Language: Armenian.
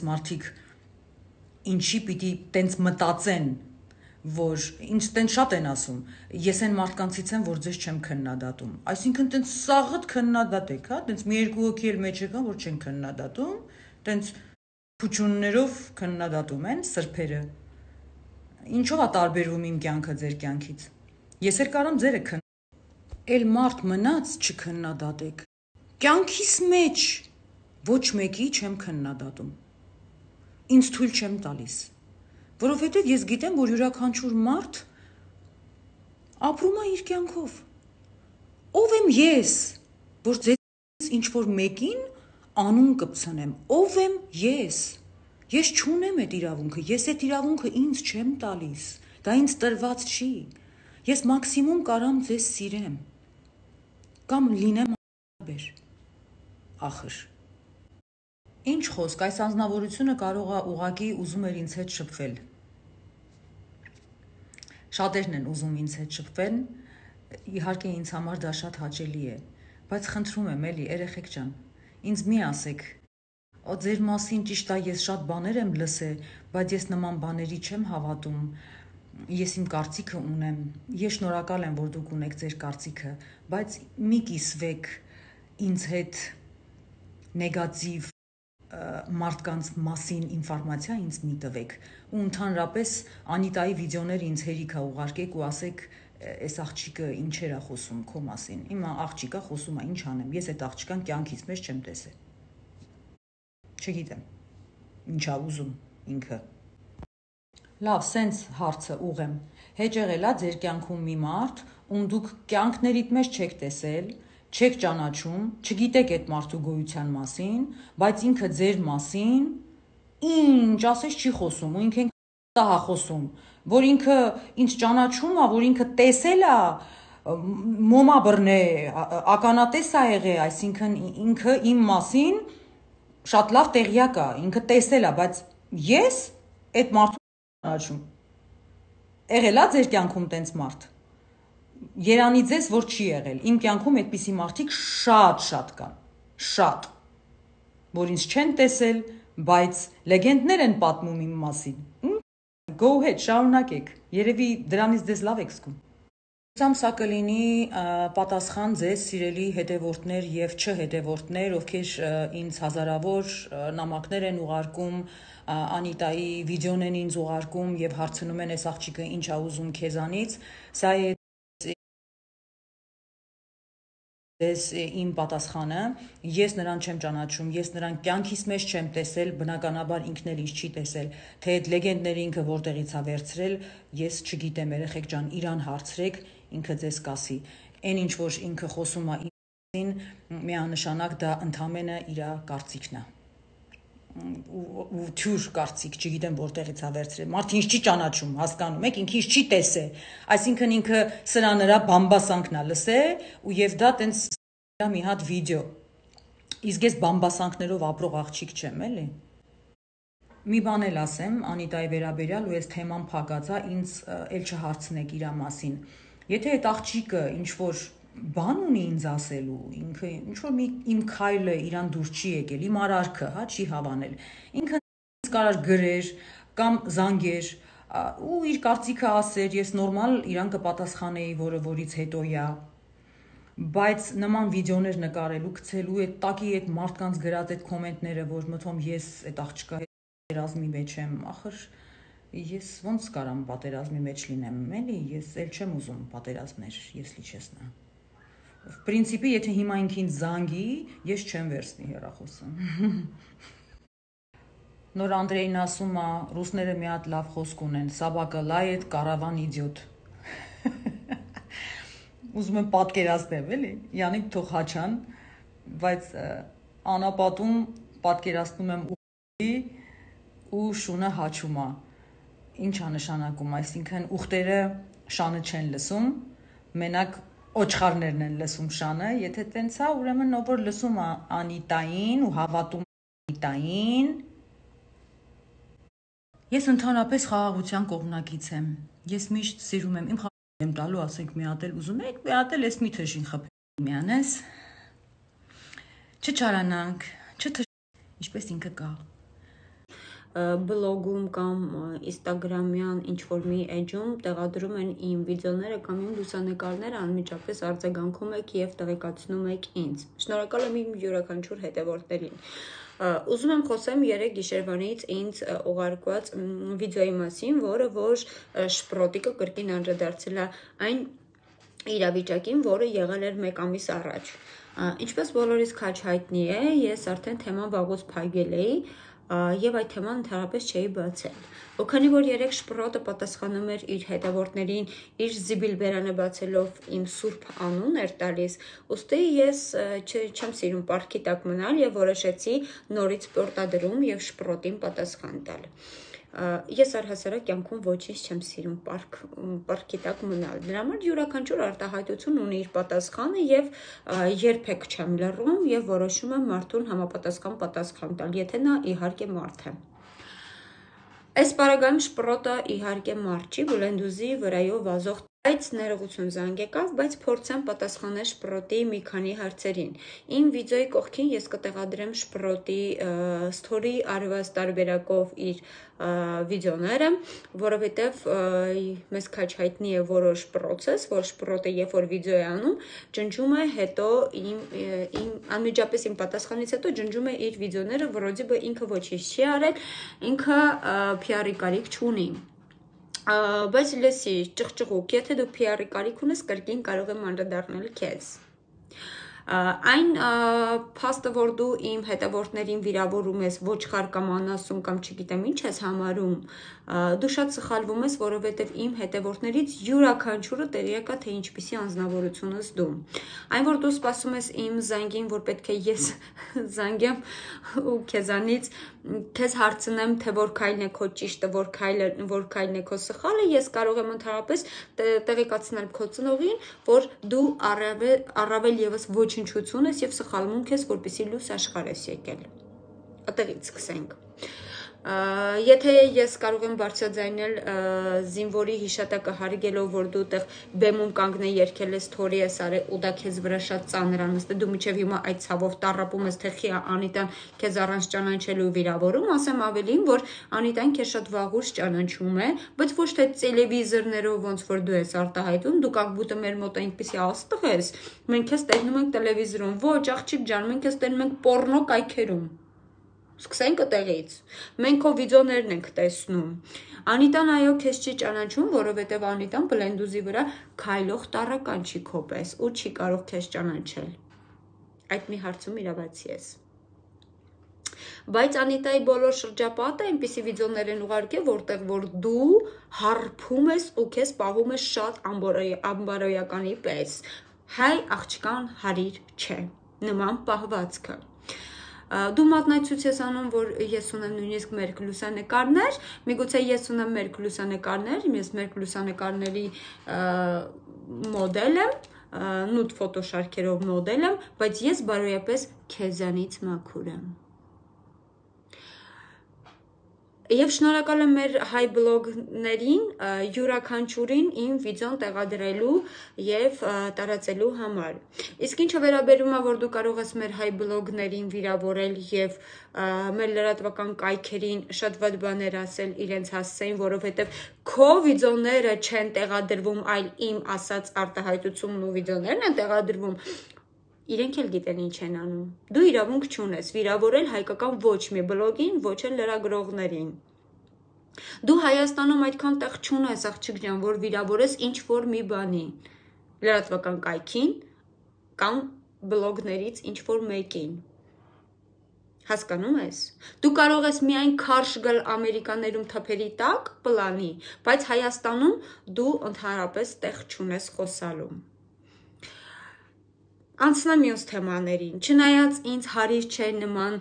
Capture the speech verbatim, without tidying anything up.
մարդիկ ինչի պիտի տենց մտածեն, որ ինչ տենց շատ են ասում, ես այն մարդկանցից եմ, որ ձեզ չեմ քննադատում, այսինքն տենց սաղըտ քննադատ եք, հա, տենց մի երկու հոգի էլ մեջ եկան, որ չեն քննադատում, տենց փուչուններով քննադատում են սրբերը, ինչով է տարբերվում իմ կյանքը ձեր կյանքից, ես էլ կարամ ձերը քննադատեմ, էլ մարդ մնաց չքննադատեք, կյանքիս մեջ ոչ մեկի չեմ քննադատում, ինձ թույլ չեմ տալիս, որովհետև ես գիտեմ, որ յուրաքանչյուր մարդ ապրում է իր կյանքով, ով եմ ես, որ ձեզ ինչ-որ մեկին անուն կպցնեմ, ով եմ ես, ես չունեմ այդ իրավունքը, ես այդ իրավունքը ինձ չեմ տալիս, դա ինձ տրված չի, ես մաքսիմում կարամ ձեզ սիրեմ, կամ լինեմ բեր, ախր, ինչ խոսք, այս անձնավորությունը կարող է ուղղակի ուզում էր ինձ հետ շփվել, շատերն են ուզում ինձ հետ շփվել, իհարկե ինձ համար դա շատ հաճելի է, բայց խնդրում եմ էլի, երեխեք ջան, ինձ մի ասեք, ձեր մասին ճիշտ է ես շատ բաներ եմ լսել, բայց ես նման բաների չեմ հավատում, ես իմ կարծիքը ունեմ, ես շնորհակալ եմ, որ դուք ունեք ձեր կարծիքը, բայց մի կիսվեք ինձ հետ նեգատիվ մարդկանց մասին ինֆորմացիա ինձ մի տվեք ու ընդհանրապես Անիտայի վիդեոներ ինձ հերիք է ուղարկեք ու ասեք այս աղջիկը ինչեր է խոսում քո մասին իմ աղջիկը խոսում է ինչ անեմ ես այդ աղջկան կյանքից մեջ չեմ տեսել չգիտեմ ինչ է ուզում ինքը լավ սենց հարցը ուղեմ հեճ եղել է ձեր կյանքում մի մարդ ում դուք կյանքներիդ մեջ չեք տեսել չեք ճանաչում, չգիտեք այդ մարդու գոյության մասին, բայց ինքը ձեր մասին ինչ ասես չի խոսում, ու ինքը դա է խոսում, որ ինքը ինձ ճանաչում է, որ ինքը տեսել է, մոմա բռնե, ականատես է եղել, այսինքն ինքը իմ մասին շատ լավ տեղյակ է, ինքը տեսել է, բայց ես այդ մարդու ճանաչում։ Եղել է ձեր կյանքում տենց մարդ։ Երանի ձեզ, որ չի եղել, իմ կյանքում այդպիսի մարդիկ շատ-շատ կան, շատ, որ ինձ չեն տեսել, բայց լեգենդներ են պատմում իմ մասին, go ahead, շարունակեք, երևի դրանից ձեզ լավ եք զգում։ Ուսամ սա կլինի պատասխան ձեզ սիրելի հետևորդներ և չհետևորդներ, ովքեր ինձ հազարավոր նամակներ են ուղարկում, Անիտայի վիդեոն են ինձ ուղարկում և հարցնում են այս աղջիկը ինչ է ուզում քեզանից, սա է Ես իմ պատասխանը, ես նրան չեմ ճանաչում, ես նրան կյանքիս մեջ չեմ տեսել, բնականաբար ինքն էլ ինձ չի տեսել, թե այդ լեգենդները ինքը որտեղից է վերցրել, ես չգիտեմ, երեխեք ջան, իրան հարցրեք, ինքը ձեզ կասի, այն ինչ որ ինքը խոսում է ինքնին, միանշանակ դա ընդամենը իր կարծիքն է, ու թյուր կարծիք, չգիտեմ որտեղից է վերցրել, մարդը ինձ չի ճանաչում, հասկանում եք, ինքը ինձ չի տեսել, այսինքն ինքը սրա նրա բամբասանքն է լսել, ու եւ դա տենց մի հատ վիդեո, իսկ ես բամբասանքներով ապրող աղջիկ չեմ, էլի։ Մի բան էլ ասեմ Անիտայի վերաբերյալ ու այս թեման փակած է, ինձ էլ չհարցնեք իր մասին։ Եթե այդ աղջիկը ինչ որ բան ունի ինձ ասելու, ինքը ինչ որ մի իմ քայլը իրան դուր չի եկել, իմ արարքը, հա, չի հավանել։ Ինքը ինձ կարար գրեր կամ զանգեր ու իր կարծիքը ասեր, ես նորմալ իրան կպատասխանեի, որը որից հետո է։ Բայց նման վիդեոներ նկարելու, գցելու, այդ տակի այդ մարդկանց գրած այդ կոմենտները, որ մթոմ ես այդ աղջկա հետ պատերազմի մեջ եմ, ախր ես ոնց կարամ պատերազմի մեջ լինեմ, էլի, ես էլ չեմ ուզում պատերազմներ, если честно։ В принципе, եթե հիմա ինքին զանգի, ես չեմ վերցնի հեռախոսը։ Նոր Անդրեյն ասում է, ռուսները մի հատ լավ խոսք ունեն, Սաբակը լայետ, կարավան իդիոտ։ Ուզում եմ պատկերացնեմ, էլի, Յանիկ թող հաչան, բայց անապատում պատկերացնում եմ ուղտի ու շունը հաչում է։ Ինչ է նշանակում, այսինքն ուղտերը շանը չեն լսում, մենակ օչխարներն են լսում շանը, եթե տենց է, ուրեմն ով որ լսում է Անիտային ու հավատում Անիտային։ Ես ընդհանրապես խաղաղության կողմնակից եմ։ Ես միշտ սիրում եմ իմ խաղաղ եմ տալու, ասենք մի հատ էլ ուզում եք, մի հատ էլ էս մի թշին խփի միանես։ Չչարանանք, չթշ, ինչպես ինքը կա։ բլոգում կամ ինստագրամյան ինչ-որ մի էջում տեղադրում են իմ վիդեոները կամ իմ լուսանկարները, անմիջապես արձագանքում եք և տեղեկացնում եք ինձ։ Շնորհակալ եմ իմ յուրաքանչյուր հետևորդներին։ Ուզում եմ խոսեմ երեկ գիշերվանից ինձ ուղարկված վիդեոյի մասին, որը որ շպրոտիկը կրկին անդրադարձել է այն իրավիճակին, որը եղել էր մեկ ամիս առաջ։ Ինչպես բոլորիս քաջ հայտնի է, ես արդեն թեման վաղուց փակել էի և այդ թեման ընդհանրապես չէի բացել։ Ու քանի որ երեք շպրոտը պատասխանում էր իր հետևորդներին իր զիբիլ բերանը բացելով իմ սուրբ անուն էր տալիս, ուստի ես չեմ սիրում պարտքի տակ մնալ և որոշեցի նորից պարտադրում և շպրոտին պատասխան տալ։ Ես առհասարակ կյանքում ոչինչ չեմ սիրում պարտքի տակ մնալ։ Դրա համար յուրաքանչյուր արտահայտություն ունի իր պատասխանը և երբեք չեմ լռում և որոշում եմ մարդուն համապատասխան պատասխան տալ, եթե նա իհարկե մարդ է։ Այս պարագայում շպրոտը իհարկե մարդ չի, Բլենդուզի վրայով վազող, բայց ներողություն զանգ եկավ, բայց փորձեմ պատասխանել շպրոտի մի քանի հարցերին։ Իմ վիդեոյի կողքին ես կտեղադրեմ շպրոտի սթորի արված տարբերակով իր վիդեոները, որովհետև մեզ քաջ հայտնի է որոշ պրոցես, որ շպրոտը երբ որ վիդեո է անում, ջնջում է հետո իմ անմիջապես իմ պատասխանից հետո ջնջում է իր վիդեոները, որովհետև ինքը ոչինչ չի արել, ինքը փի ար-ի կարիք չունի։ Բայց լսի, ճղճղուկ, եթե դու փի ար-ի կարիք ունես, կրկին կարող եմ անդրադառնալ քեզ։ Այն փաստը, որ դու իմ հետևորդներին վիրավորում ես, ոչխար կամ անասուն կամ չգիտեմ ինչ ես համարում, դու շատ սխալվում ես, որովհետև իմ հետևորդներից յուրաքանչյուրը տեղյակ է, թե ինչպիսի անձնավորություն ես դու։ Այն, որ դու սպասում ես իմ զանգին, որ պետք է ես զանգեմ ու քեզանից քեզ հարցնեմ, թե որ քայլն է քո ճիշտը, որ քայլն է քո սխալը, ես կարող եմ ընդհանրապես տեղեկացնել քո ծնողին, որ դու առավել ևս ոչնչություն ես և սխալվում ես, որպեսզի լույս աշխարհ ես եկել։ Այդտեղից սկսենք։ Եթե ես կարող եմ բարձրաձայնել զինվորի հիշատակը հարգելով, որ դու տեղ բեմում կանգնե երգել ես, թորի ես արել ու դա քեզ վրա շատ ծանր ա նստել, դու մինչև հիմա այդ ցավով տառապում ես, թե խի Անիտան քեզ առանց ճանաչելու վիրավորում, ասեմ ավելին, որ Անիտան քեզ շատ վաղուց ճանաչում է, բայց ոչ թե տելևիզորներով ոնց որ դու ես արտահայտում, դու կակբուտը մեր մոտ այնպեսի աստղ ես, մենք քեզ տենում ենք տելևիզորում, ոչ աղջիկ ջան, մենք քեզ տենում ենք պոռնո կայքերում։ Սկսենք այդտեղից։ Մենք քո վիդեոներն ենք տեսնում։ Անիտան այո քեզ չի ճանաչում, որովհետև Անիտան Բլենդուզի վրա քայլող տառական չի քո պես ու չի կարող քեզ ճանաչել։ Այդ մի հարցում իրավացի ես։ Բայց Անիտայի բոլոր շրջապատը այնպիսի վիդեոներ են ուղարկել, որտեղ որ դու հարբում ես ու քեզ պահում ես շատ ամբարոյականի պես։ Հայ աղջկան հարիր չէ, նման պահվածքը։ Դու մատնացույց ես անում, որ ես ունեմ նույնիսկ մերկ լուսանկարներ, միգուցե ես ունեմ մերկ լուսանկարներ, ես մերկ լուսանկարների մոդել եմ, նուդ ֆոտոշարքերով մոդել եմ, բայց ես բարոյապես քեզանից մաքուր եմ։ Եվ շնորհակալ եմ մեր հայ բլոգերներին յուրաքանչյուրին իմ վիդեոն տեղադրելու և տարածելու համար։ Իսկ ինչը վերաբերում է, որ դու կարող ես մեր հայ բլոգերին վիրավորել և մեր լրատվական կայքերին շատ վատ բաներ ասել իրենց հասցեին, որովհետև քո վիդեոները չեն տեղադրվում, այլ իմ ասած արտահայտությունն ու վիդեոներն են տեղադրվում, իրենք էլ գիտեն ինչ են անում։ Դու իրավունք չունես վիրավորել հայկական ոչ մի բլոգին, ոչ էլ լրագրողներին։ Դու Հայաստանում այդքան տեղ չունես, աղջիկ ջան, որ վիրավորես ինչ-որ մի բանի, լրատվական կայքին կամ բլոգներից ինչ-որ մեկին։ Հասկանում ես։ Դու կարող ես միայն քարշ գալ Ամերիկաներում թփերի տակ պլանի, բայց Հայաստանում դու ընդհանրապես տեղ չունես խոսալու։ Անցնեմ մյուս թեմաներին, չնայած ինձ հարիր չէ նման